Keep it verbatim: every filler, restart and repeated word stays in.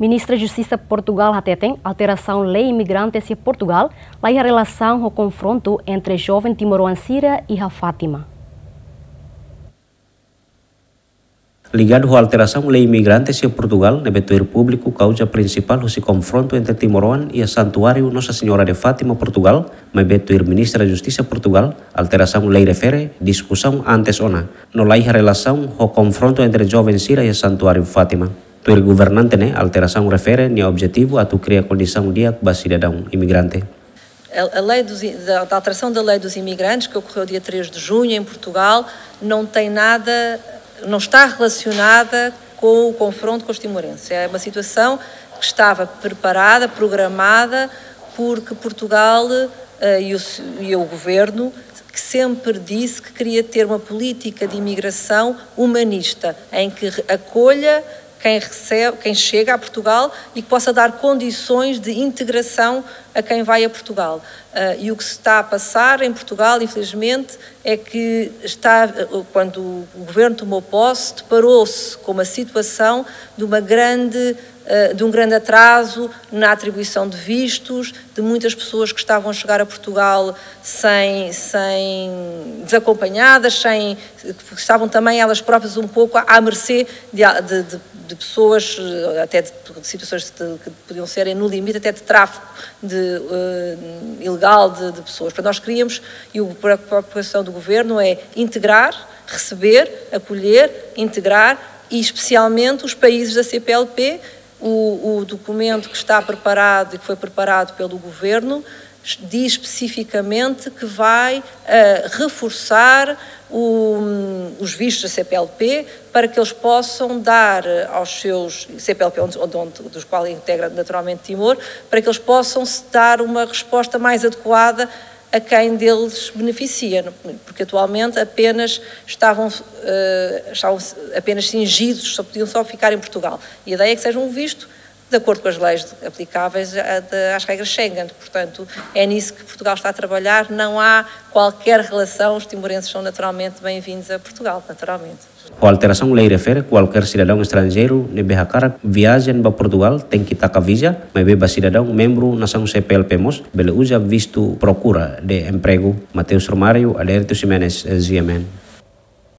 Ministra Justisa Portugal hateten alterasaun lei imigrantes iha Portugal la iha relasaun ho konfrontu entre joven timoroan sira iha Fátima. Ligadu ho alterasaun lei imigrantes iha Portugal, ne'ebé tuir públiku kauza prinsipál husi konfrontu entre timoroan iha Santuáriu Nossa Senhora de Fátima, Portugal, maibé tuir Ministra Justisa Portugal, alterasaun lei refere diskusaun antes ona, no la iha relasaun ho konfrontu entre joven sira iha Santuáriu Fátima. Tuir governante ne'e, alterasaun refere nia objetivu atu kria kondisaun di'ak ba sidadaun imigrante. A, a lei dos i-, da, da alteração da lei dos imigrantes, que ocorreu dia três de junho em Portugal, não tem nada, não está relacionada com o confronto com os timorenses. É uma situação que estava preparada, programada, porque Portugal, eh, e o se-, e o governo que sempre disse que queria ter uma política de imigração humanista, em que re-, acolha quem recebe, quem chega a Portugal e que possa dar condições de integração a quem vai a Portugal. Ah, e o que se está a passar em Portugal, infelizmente, é que está, quando o governo tomou posse, deparou-se com uma situação de uma grande, ah, de um grande atraso na atribuição de vistos, de muitas pessoas que estavam a chegar a Portugal sem, sem, desacompanhadas, sem, que estavam também elas próprias um pouco à, à mercê de, de, de, de pessoas, eh, até de, de situações de, que podiam serem no limite até de tráfico de, eh, ilegal de, de pessoas. Portanto, nós queríamos, e o, a preocupação do governo é integrar, receber, acolher, integrar e especialmente os países da C P L P. O, o documento que está preparado e que foi preparado pelo governo diz especificamente que vai, eh, reforçar o, os vistos da C P L P para que eles possam dar, eh, aos seus, C P L P, onde, onde, onde, dos quais integra naturalmente Timor, para que eles possam se dar uma resposta mais adequada a quem deles beneficia, porque atualmente apenas estavam, eh, estavam apenas cingidos, só podiam só ficar em Portugal. E a ideia é que seja um visto de acordo com as leis aplicáveis a, de, às regras Schengen. Portanto, é nisso que Portugal está a trabalhar. Não há qualquer relação, os timorenses são naturalmente bem-vindos a Portugal, naturalmente. Ho alterasaun lei refere, kualkér sidadaun estranjeiru ne'ebé hakarak viajen ba Portugal tenke taka viza, maibé ba sidadaun membru nasaun C P L P mós bele uza vistu prokura de empregu. Mateus Romário, Adérito Ximenes, G M N.